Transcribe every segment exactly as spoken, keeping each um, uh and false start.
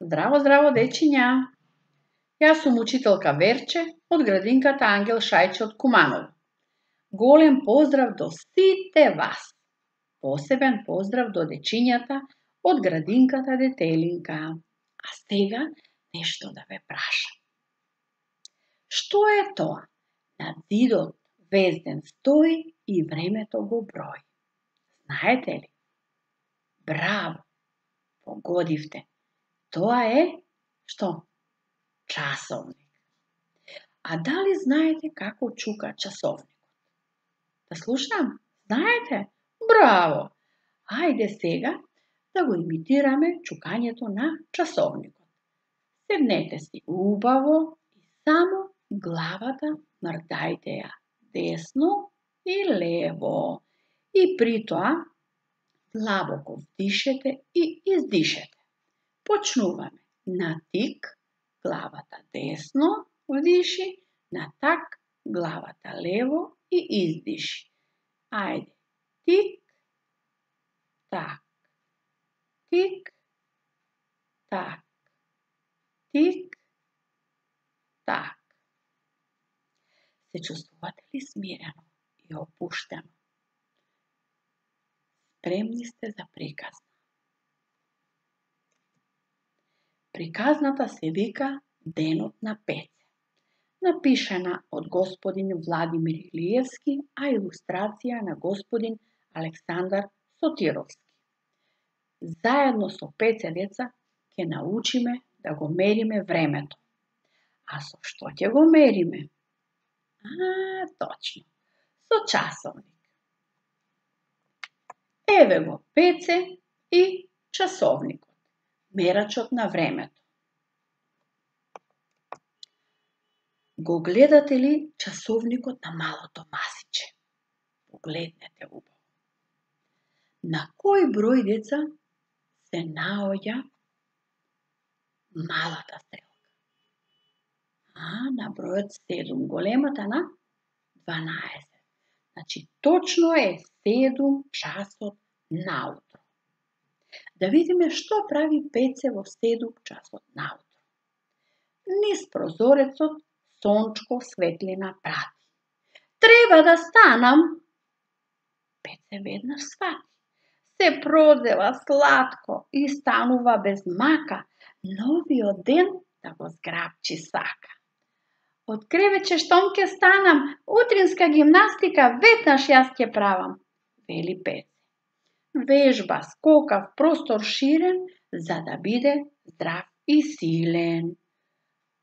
Здраво, здраво, дечиња! Јас сум учителка Верче од градинката Ангел Шајче од Куманово. Голем поздрав до сите вас! Посебен поздрав до дечињата од градинката Детелинка. А сега нешто да ве прашам. Што е тоа? На зидот везден стои и времето го брои. Знаете ли? Браво! Погодивте. Тоа е што? Часовник. А дали знаете како чука часовникот? Да слушам? Знаете? Браво! Ајде сега да го имитираме чукањето на часовникот. Седнете си убаво и само главата мрдајте ја десно и лево. И при тоа длабоко вдишете и издишете. Почнуваме на тик, главата десно вдиши, на так, главата лево и издиши. Ајде, тик, так, тик, так, тик, так. Се чувствувате ли смирено и опуштено? Спремни сте за приказна. Приказната се вика Денот на Пеце. Напишана од господин Владимир Илиевски, а илустрација на господин Александар Сотировски. Заедно со Пеце деца ќе научиме да го мериме времето. А со што ќе го мериме? А, точно, со часовник. Еве го Пеце и часовникот, мерачот на времето. Го гледате ли часовникот на малото масиче? Погледнете убаво. На кој број деца се наоѓа малата стрелка? А, на бројот седум, големата на дванаесет. Значи, точно е седум часот наутро. Да видиме што прави Пеце во седум часот наутро. Низ прозорецот сончко светлина прати. Треба да станам. Пеце веднаш свати. Се прозева сладко и станува без мака, новиот ден да го зграбчи сака. Од кревече штом ќе станам, утринска гимнастика веднаш јас ќе правам, вели Пеце. Вежба скока в простор ширен, за да биде здрав и силен.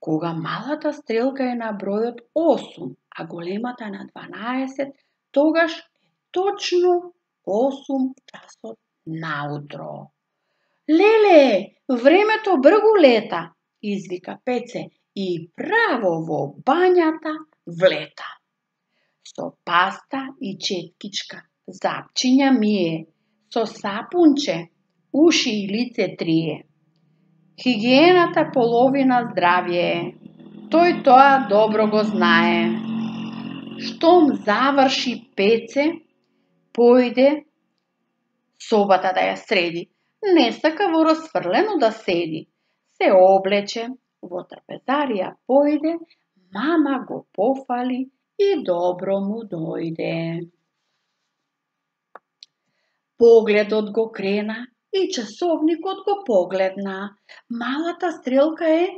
Кога малата стрелка е на бројот осум, а големата на дванаесет, тогаш е точно осум часот наутро. Леле, времето бргу лета, извика Пеце и право во бањата влета. Со паста и четкичка, запчиња мие, со сапунче, уши и лице трие. Хигиената половина здравје е, тој тоа добро го знае. Штом заврши Пеце, појде собата да ја среди. Не сака во расфрлено да седи. Се облече, во трпезарија појде, мама го пофали и добро му дојде. Погледот го крена и часовникот го погледна. Малата стрелка е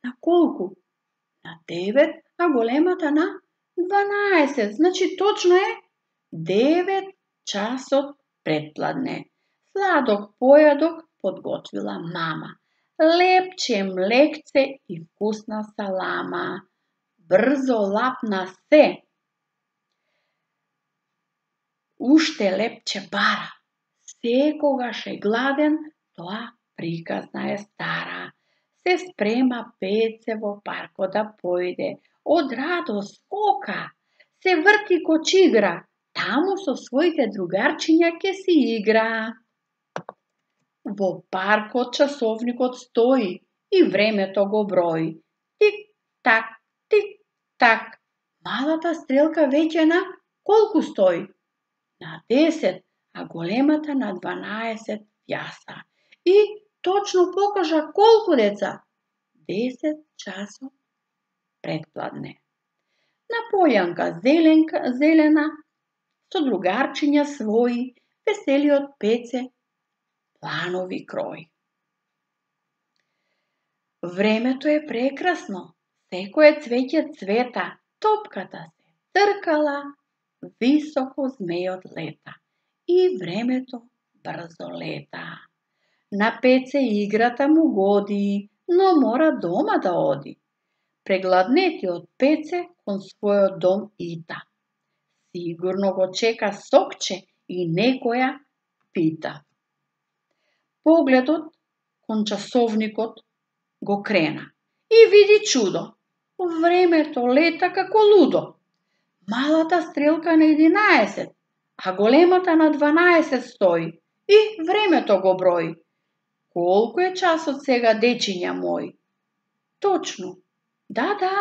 на колку? На девет, а големата на дванаесет. Значи точно е девет часот предпладне. Сладок појадок подготвила мама. Лепче млекце и вкусна салама. Брзо лапна се. Уште лепче бара. Секогаш е гладен, тоа приказна е стара. Се спрема Пеце во паркот да појде. Од радост скока. Се врти ко чигра. Таму со своите другарчиња ќе си игра. Во паркот часовникот стои и времето го брои. Тик-так, тик-так. Малата стрелка веќе на колку стои? На десет, а големата на дванаесет јаса. И точно покажа колку деца? десет часот предпладне. На полјанка зеленка, зелена, со другарчиња своји, веселиот Пеце планови крои. Времето е прекрасно, секое цвеќе цвета, топката се тркала, високо змејот лета и времето брзо лета. На Пеце играта му годи, но мора дома да оди. Прегладнетиот Пеце кон својот дом ита. Сигурно го чека сокче и некоја пита. Погледот кон часовникот го крена и види чудо. Времето лета како лудо. Малата стрелка на единаесет, а големата на дванаесет стои и времето го брои. Колку е часот сега, дечиња мои? Точно, да, да,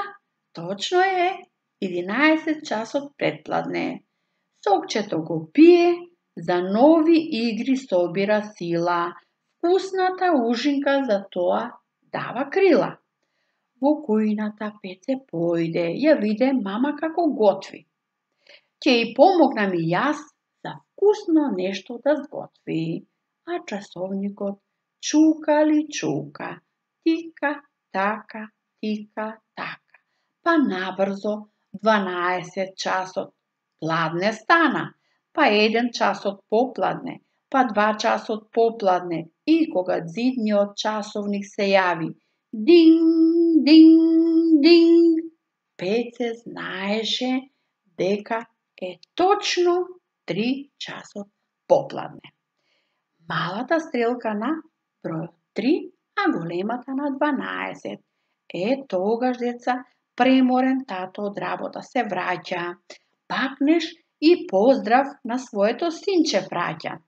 точно е единаесет часот предпладне. Сокчето го пие, за нови игри собира сила. Вкусната ужинка за тоа дава крила. Во кујната Пеце појде, ја виде мама како готви. Ќе и помогнам и јас за вкусно нешто да сготви. А часовникот чука ли чука, тика, така, тика, така. Па набрзо дванаесет часот пладне стана, па еден часот попладне, па два часот попладне и кога зидниот часовник се јави, динг, динг, динг, Пеце знаеше дека е точно три часот попладне. Малата стрелка на бројот три, а големата на дванаесет. Е, тогаш, деца, преморен тато од работа се враќа. Пакнеш и поздрав на своето синче праќа.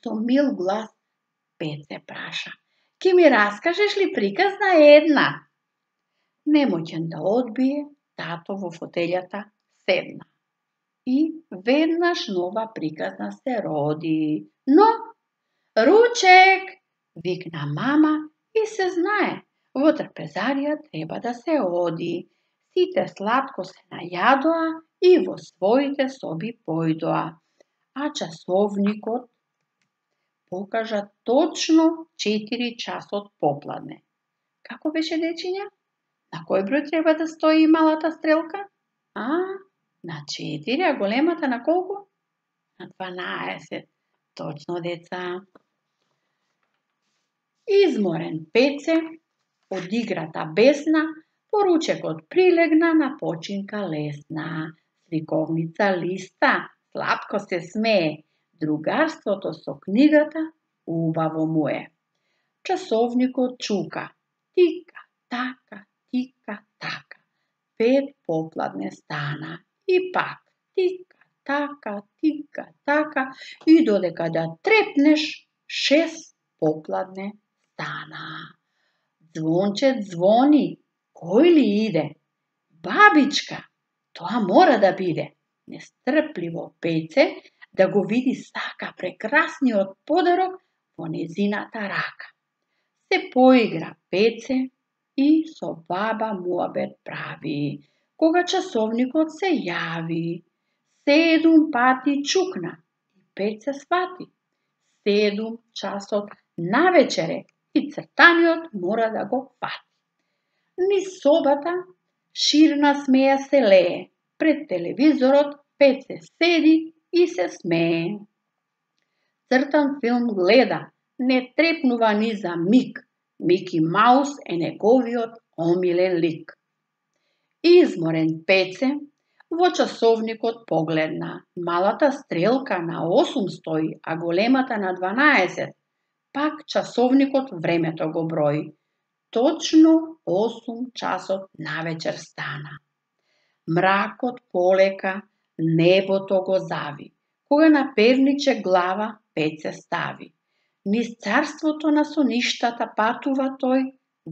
Со мил глас Пеце праша. Ке ми раскажеш ли приказна една? Немоќен да одбие, тато во фотелјата седна. И веднаш нова приказна се роди. Но, ручек, викна мама и се знае, во трпезарија треба да се оди. Сите сладко се најадоа и во своите соби појдоа. А часовникот покажа точно четири часот попладне. Како беше, дечиња? На кој број треба да стои малата стрелка? А, на четири, а големата на колку? На дванаесет. Точно, деца. Изморен Пеце, од играта бесна, поручекот прилегна на починка лесна. Сликовница листа, сладко се смее, другарството со книгата убаво му е. Часовникот чука, тика, така, тика, така. Пет попладне стана и пак тика, така, тика, така и додека да трепнеш, шест попладне стана. Звонче звони, кој ли иде? Бабичка, тоа мора да биде. Нестрпливо Пеце да го види сака прекрасниот подарок во незината рака. Се поигра Пеце и со баба муабет прави, кога часовникот се јави. Седум пати чукна и Пеце свати. Седум часот навечере и цртаниот мора да го фати. Низ собата ширна смеја се лее, пред телевизорот Пеце седи и се смее. Цртан филм гледа, не трепнува ни за миг. Мики Маус е неговиот омилен лик. Изморен Пеце во часовникот погледна. Малата стрелка на осум стои, а големата на дванаесет. Пак часовникот времето го брои. Точно осум часот навечер стана. Мракот полека небото го зави, кога на перниче глава Пеце стави. Низ царството на соништата патува тој,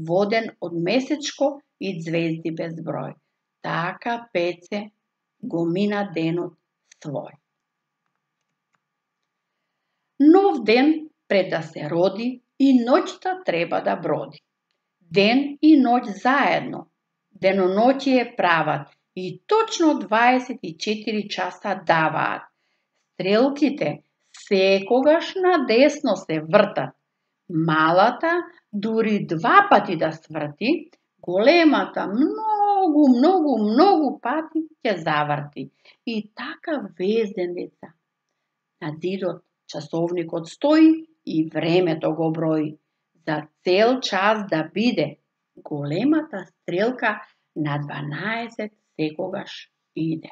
воден од месечко и звезди без број. Така Пеце го мина денот свој. Нов ден пред да се роди, и ноќта треба да броди. Ден и ноќ заедно. Деноноќие прават и точно дваесет и четири часа даваат. Стрелките секогаш надесно се вртат. Малата дури два пати да сврти, големата многу, многу, многу пати ќе заврти. И така вез ден, деца. На зидот часовникот стои и времето го брои. За цел час да биде, големата стрелка на дванаесет секогаш иде.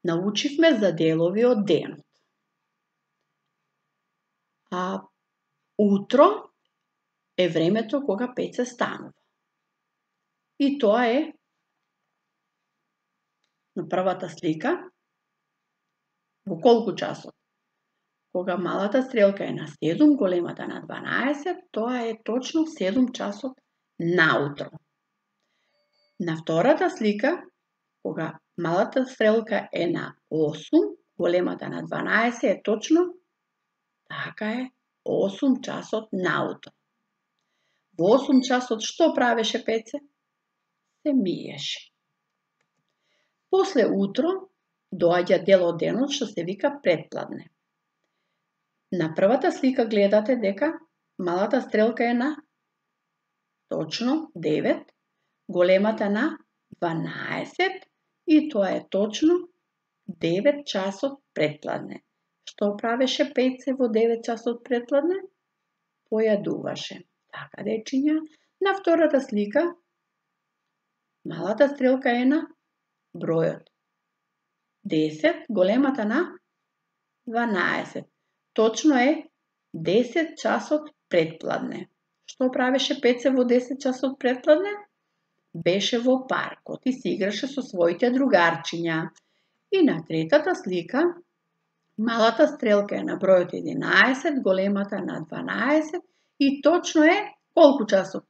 Научивме за делови од денот. А утро е времето кога Пеце станува. И тоа е на првата слика во колку часот? Кога малата стрелка е на седум, големата на дванаесет, тоа е точно седум часот наутро. На втората слика, кога малата стрелка е на осум, големата на дванаесет, е точно така е осум часот наутро. Во осум часот што правеше Пеце? Се миеше. После утро доаѓа дел од денот што се вика предпладне. На првата слика гледате дека малата стрелка е на точно девет, големата на дванаесет и тоа е точно девет часот предпладне. Што правеше Пеце во девет часот предпладне? Појадуваше. Така, дечиња, на втората слика малата стрелка е на бројот десет, големата на дванаесет. Точно е десет часот предпладне. Што правеше Пеце во десет часот предпладне? Беше во паркот и се играше со своите другарчиња. И на третата слика малата стрелка е на бројот единаесет, големата на дванаесет и точно е колку часот?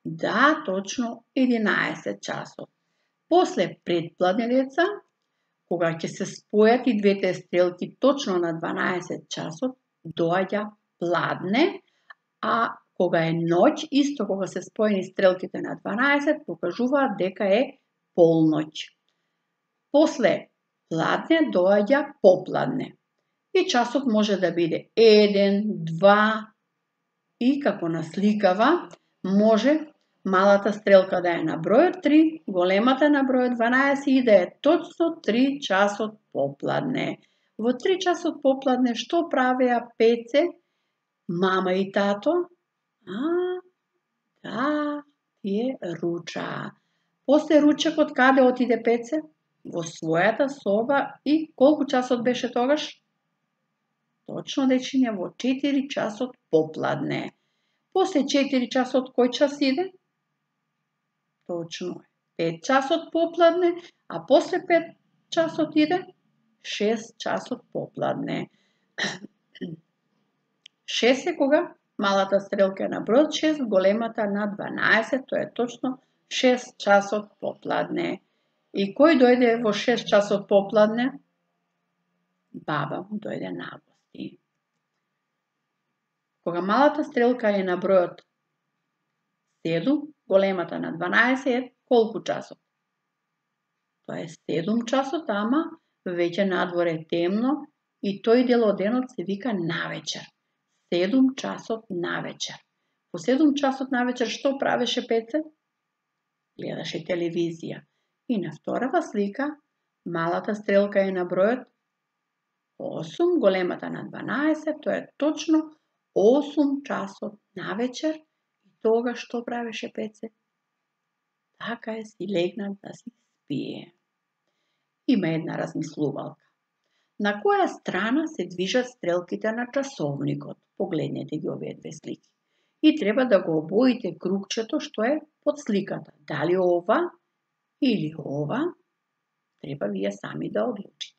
Да, точно единаесет часот. После предпладне, деца, кога ќе се спојат и двете стрелки точно на дванаесет часот, доаѓа пладне, а кога е ноќ, исто кога се споени стрелките на дванаесет, покажуваат дека е полноќ. После пладне доаѓа попладне. И часот може да биде еден, два и како насликава, може малата стрелка да е на бројот три, големата на бројот дванаесет и да е точно три часот попладне. Во три часот попладне што правеа Пеце, мама и тато? А, да, тие ручаа. После ручекот каде отиде Пеце? Во својата соба и колку часот беше тогаш? Точно, дечиња, во четири часот попладне. После четири часот кој час иде? Точно е пет часот попладне, а после пет часот иде шест часот попладне. шест е кога малата стрелка е на бројот шест, големата на дванаесет, тоа е точно шест часот попладне. И кој дојде во шест часот попладне? Баба му дојде на гости. Кога малата стрелка е на бројот седум, големата на дванаесет е колку часот? Тоа е седум часот, ама веќе надвор е темно и тој дел од денот се вика навечер. седум часот навечер. По седум часот навечер што правеше Пеце? Гледаше телевизија. И на вторава слика малата стрелка е на бројот осум, големата на дванаесет, тоа е точно осум часот навечер. И тога што правеше Пеце? Така е, си легна да си спие. Има една размислувалка. На која страна се движат стрелките на часовникот? Погледнете ги овие две слики. И треба да го обоите кругчето што е под сликата. Дали ова или ова, треба вие сами да одлучите.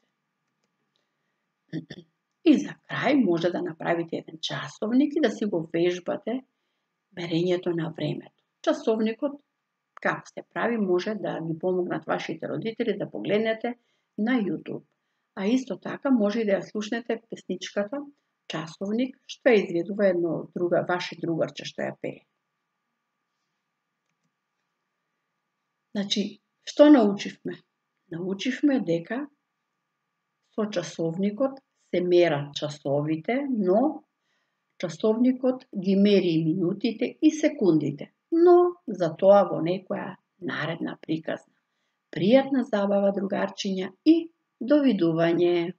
И за крај може да направите еден часовник и да си го вежбате мерењето на времето. Часовникот, како се прави, може да ви помогнат вашите родители да погледнете на YouTube. А исто така може и да ја слушнете песничката Часовник, што ја изведува едно друга, ваше другарче што ја пее. Значи, што научивме? Научивме дека со часовникот се мерат часовите, но часовникот ги мери и минутите и секундите, но за тоа во некоја наредна приказна. Пријатна забава, другарчиња, и довидување!